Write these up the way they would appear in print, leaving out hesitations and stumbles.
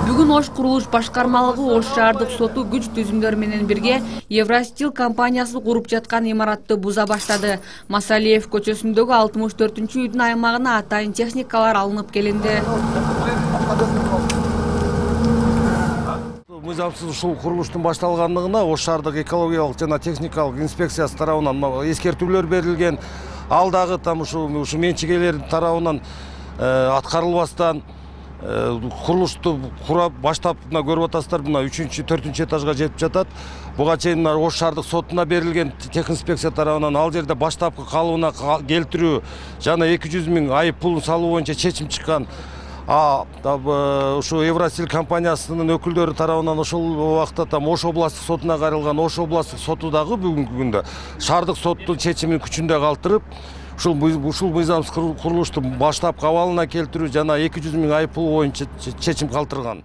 Бүгүн Ош курулуш башкармалыгы Ош шаардык соту күч түзүмдөр менен бирге Евростил компаниясы куруп жаткан имаратты буза баштады. Масалиев көчөсүндөгү 64-үйдүн аймагына атайын техникалар алынып келинди. Мыйзамсыз ушул курулуштун башталгандыгына Ош шаардык экологиялык жана техникалык инспекциясы тарабынан эскертүүлөр берилген. Ал дагы ушу менчигелердин тарабынан аткарылбастан курулушту кура баштап көрүп атасыздар, 3-4 этажга жетип жатат. Буга чейин Ош шаардык сотуна берилген техинспекция тарабынан ал жерде баштапкы калыбына келтирүү жана 200 000 айып пулун салуу боюнча чечим чыккан. Ушу Евростил компаниясынын өкүлдөрү тарабынан ошол убакта Ош областтык сотуна кайрылган. Ош областтык соту дагы бүгүнкү күндө шаардык соттун чечимин күчүндө калтырып, ушул мыйзамсыз курулушту баштапкы абалына келтирүү жана 200 000 айып пул боюнча чечим калтырган.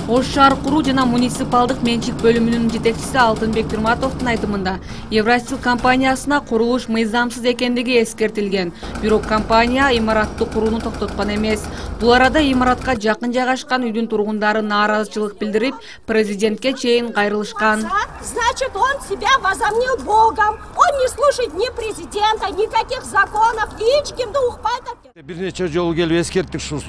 Ош шаар куруу жана муниципалдык менчик бөлүмүнүн жетекчиси Алтынбек Пирматовдун айтымында, Евростил компаниясына курулуш мыйзамсыз экендиги эскертилген. Бирок компания имаратты курууну токтоткон эмес. Бул арада имаратка жакын жайгашкан үйдүн тургундары нааразычылык билдирип, президентке чейин кайрылышкан. Значит, он себя возомнил Богом. Он не слушает ни президента, никаких законов, ичкимди укпайт. Бир нече жолу келип эскерттик ушу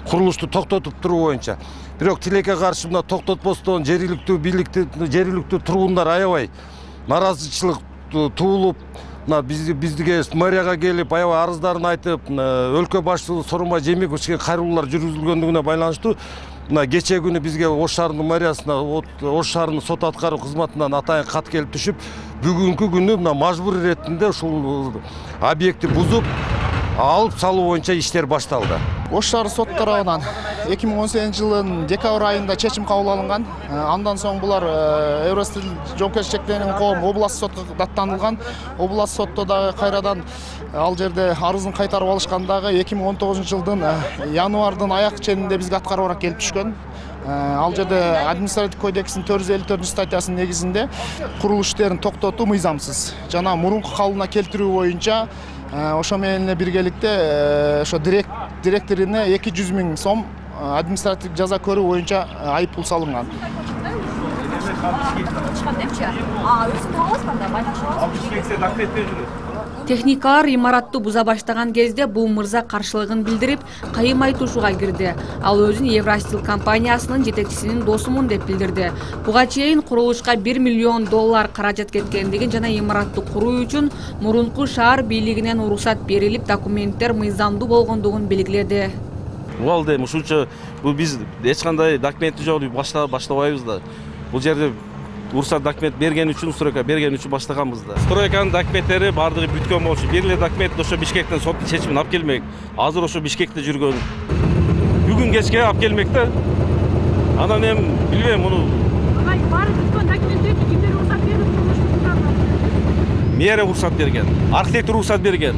курулушту токтотуп туруу боюнча. Бирок тилекке каршы мына токтотпостон жергиликтүү тургундар аябай нааразычылык туулуп, бизге мэрияга келип аябай арыздарын айтып, өлкө башчысы Сооронбай Жээнбековичке кайрылуулар жүргүзүлгөндүгүнө байланыштуу кечээ күнү бизге Ош шаарынын мэриясына, Ош шаарынын сот аткаруу кызматынан атайын кат келип түшүп, бүгүнкү күнү мажбур иретинде ушул объектти бузуп алып салуу боюнча иштер башталды. Ош шаары сот тарабынан 2018 жылдын декабрь айында чечим кабыл алынган. Андан соң булар Евростил жоопкерчиликке чектелген коом областтык сотко даттанылган. Областтык сотто дагы кайрадан ал жерде арызын кайтарып алышкан дагы 2019 жылдын январдын аяк ченинде бизге аткарыбарак келип түшкөн. Ал жерде административдик кодекстин 454 негизинде курулуш иштерин токтотуу мыйзамсыз жана мурунку калыбына келтирүү боюнча ошо менен биргеликте ошо директоруна 200 000 сом административдик жаза көрүү боюнча айып пул салынган. Техникалар имаратты буза баштаган кезде бул мырза каршылыгын билдирип, кайым айтышууга кирди. Ал өзүн Евростил компаниясынын жетекчисинин досумун деп билдирди. Буга чейин курулушка $1 миллион каражат кеткендигин жана имаратты куруу үчүн мурунку шаар бийлигинен уруксат берилип, документтер мыйзамдуу болгондугун белгиледи. Бул дем ушунча биз эч кандай документи жок баштабайбыз да. Бул жерде уруксат документ берген үчүн, стройка берген үчүн баштаганбыз да. Стройканын документтери бардыгы бүткөн болчу. Бир документ ошо Бишкектен соттун чечимин алып келмек. Азыр ошо Бишкекте жүргөн. Бүгүн кечке алып келмек да. Анан эми билбейм муну. Баары бүткөн документтерди кимдер уруксат берип Мэрия уруксат берген, архитектор уруксат берген,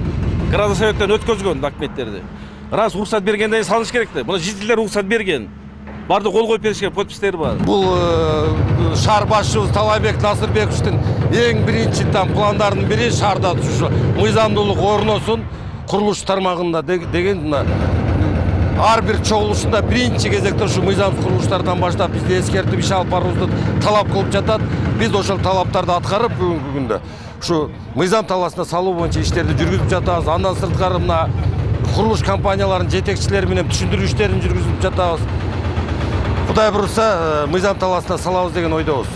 градосоветтен өткөзгөн документтерди. Раз уруксат бергенден салыш керек да. Мына жителдер уруксат берген. Барды кол коюп беришкен, подпистери бар. Бул шаар башчыбыз Талайбек Насырбековичтин эң биринчи пландардын бири шаарда ушу мыйзамдуулук орносун курулуш тармагында деген ар бир чогулушунда биринчи кезекте ушу мыйзамсыз курулуштардан баштап бизди эскертип иш алып баруубузду талап кылып жатат. Биз ошол талаптарды аткарып бүгүнкү күндө ушу мыйзам талаасына салуу боюнча иштерди жүргүзүп жатабыз. Андан сырткары мына курулуш компанияларынын жетекчилери менен түшүндүрүү иштерин жүргүзүп жатабыз. Кудай буюрса, мыйзам талаасына салабыз деген ойдобуз.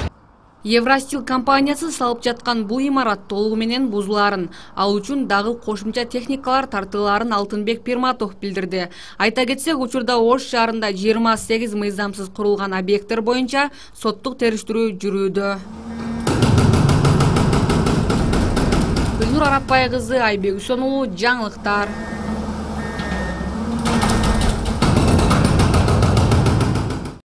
Евростил компаниясы салып жаткан бул имарат толугу менен бузулаарын, ал үчүн дагы кошумча техникалар тартылаарын Алтынбек Пирматов билдирди. Айта кетсек, учурда Ош шаарында 28 мыйзамсыз курулган объекттер боюнча соттук териштирүү жүрүүдө. Гүлнур Арапбай кызы, Айбек Үсөнулу, жаңылыктар.